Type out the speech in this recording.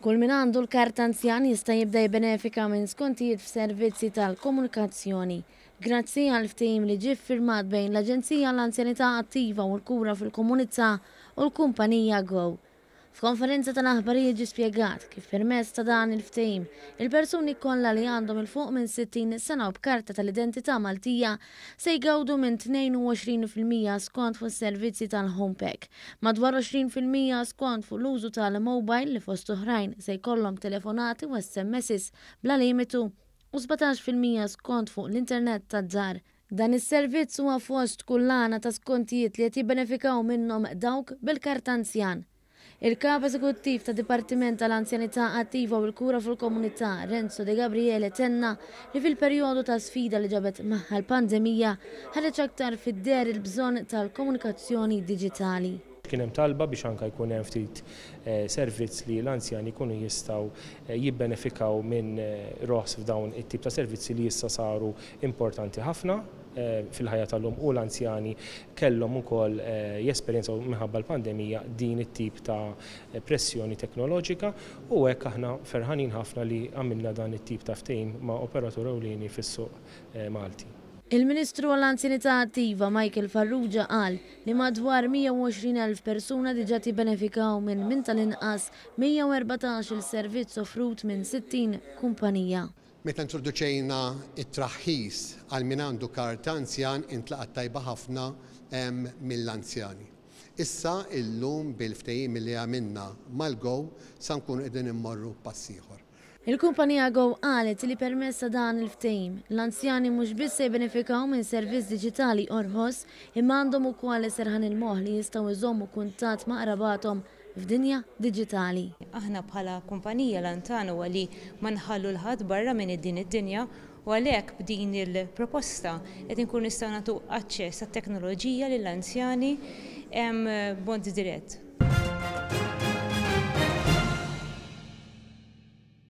Kull min għandu l-karta anzjan jista' jibda jibbenefika minn skontijiet f'servizzi tal-komunikazzjoni. Grazzi għal ftehim li ġie ffirmat bejn l-Aġenzija għall-Anzjanità Attiva u l-Kura fil-Komunità u l-kumpanija Go. F'konferenza tal-aħbarijiet ġie spjegat kif permezz ta' dan il-ftehim, il-persuni kollha li għandhom 'il fuq minn 60 sena u b'karta tal-identità Maltija se jgawdu minn 22% skont fuq is-servizzi tal-Homepack, madwar 20% skont fuq l-użu tal-mobile li fost oħrajn se jkollhom telefonati u SMSs bla limitu u 17% skont fuq l-internet tad-dar. Dan is-servizz huwa fost kullana ta' skontijiet li qed jibbenefikaw minnhom dawk bil-karta anzjan. Il-Kap Eżekuttiv tad-Dipartiment tal-Anzjanità Attiva u l-Kura fil-Komunità, Renzo De Gabriele tenna li fil-perjodu ta' sfida li ġabet magħha l-pandemija, ħareġ aktar fid-deher il-bżonn tal-komunikazzjoni diġitali. Kien hemm talba biex anke jkun hemm ftit servizz li l-anzjani jkunu jistgħu jibbenefikaw minn roħs f'dawn it-tip ta' servizzi li issa saru importanti ħafna fil-ħajja tal-lum u l-anzjani kellhom ukoll jesperjenzaw minħabba l-pandemija din it-tip ta' pressjoni teknoloġika u hekk aħna ferħanin ħafna li għamilna dan it-tip ta' ftehim ma' operatur ewlieni fis-suq Malti. Il-Ministru għall-Anzjanità Attiva Michael Farrugia qal li madwar 120,000 persuna diġà jibbenefikaw minn minn tal-inqas 114-il servizz offrut minn 60 kumpanija. Meta introduċejna t-traħħis għal min għandu karta anzjan intlaqat tajba ħafna mill-anzjani. Issa illum bil-ftehim li għamilna mal-Go sa nkunu qegħdin immorru pass ieħor. Il-kumpanija Go qalet li permezz ta' dan il-ftehim, l-anzjani mhux biss se jibbenefikaw minn servizz diġitali orħos imma għandhom ukoll serħan il-moħħ li jistgħu jżommu kuntatt ma' qrabathom f'dinja diġitali. Aħna bħala kumpanija l-għan tagħna huwa li ma nħallu 'l ħadd barra minn din id-dinja u għalhekk b'din il-proposta qed inkunu nistgħu nagħtu aċċess għat-teknoloġija lill-anzjani b'mod dirett.